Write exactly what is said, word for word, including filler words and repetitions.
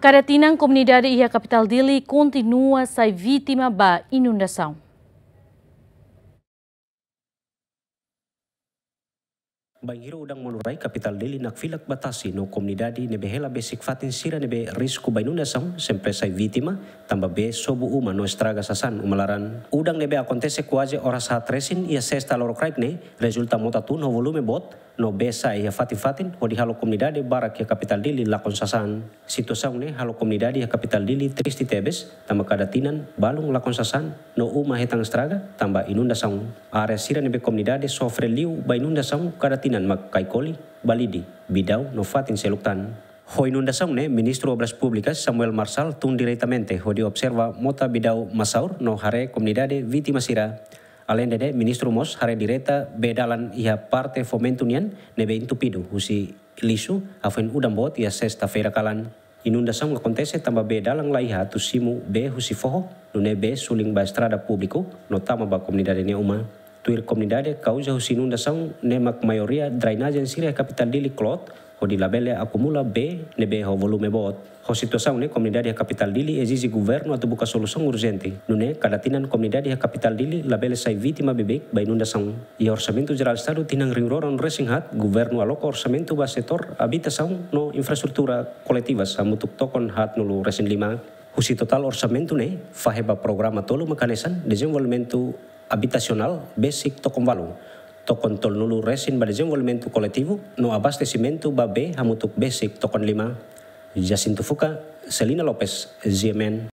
Kada tinan komunidade iha kapitál Dili kontinua sai vítima ba inundasaun. Bainhira udan monu rai, kapitál Dili nakfilak ba tasi no komunidade ne'ebé hela besik fatin sira ne'ebé risku ba inundasaun sempre sai vítima, tanba bee sobu uma no estraga sasán uma laran. Udan ne'ebé akontese kuaze oras haat resin iha sesta lorokraik ne'e, rezulta mota tun ho volume boot, no bee sa'e iha fatin-fatin, hodi halo komunidade barak iha kapitál Dili lakon sasán. Situasaun ne'e halo komunidade iha kapitál Dili triste tebes, tanba kada tinan balun lakon sasán, no uma hetan estraga, tanba inundasaun. Área sira ne'ebé komunidade sofre liu ba inundasaun kada tinan mak Caicoli, Balide, Bidau, no fatin seluk tan. Ho inundasaun ne'e, Ministru Obras Públikas, Samuel Marçal, tun diretamente hodi observa mota Bidau Massaur no haree komunidade vítima sira. Aleinde ne'e, Ministru mós haree direta bee dalan iha parte Fomento nian ne'ebé entupidu husi lixu, hafoin udan boot iha sesta-feira kalan. Inundasaun akontese tanba bee dalan laiha atu simu bee husi foho, nune'e bee sulin ba estrada públiku, no tama ba komunidade nia uma. Tuir komunidade, kauza husi inundasaun ne'e mak maioria drenajen sira iha kapitál Dili kloot, hodi labele akumula bee ne'ebé ho volume boot. Ho situasaun ne'e, komunidade iha kapitál Dili ezije governu atu buka solusaun urjente. Nune'e, kada tinan komunidade iha kapitál Dili labele sai vítima beibeik ba inundasaun. Iha Orsamentu Jerál Estadu tinan rihun rua ruanulu resin haat, governu aloka orsamentu ba setór abitasaun no infraestrutura koletivas hamutuk tokon haatnulu resin lima. Husi totál orsamentu ne'e, fahe ba programa tolu mak hanesan dezenvolvimentu abitasionál besik tokon ualu, tokon tolunulu resin ba dezenvolvimentu koletivu, no abastesimentu ba bee hamutuk besik tokon lima. Jacinto Fuca, Celina Lopes, G M N.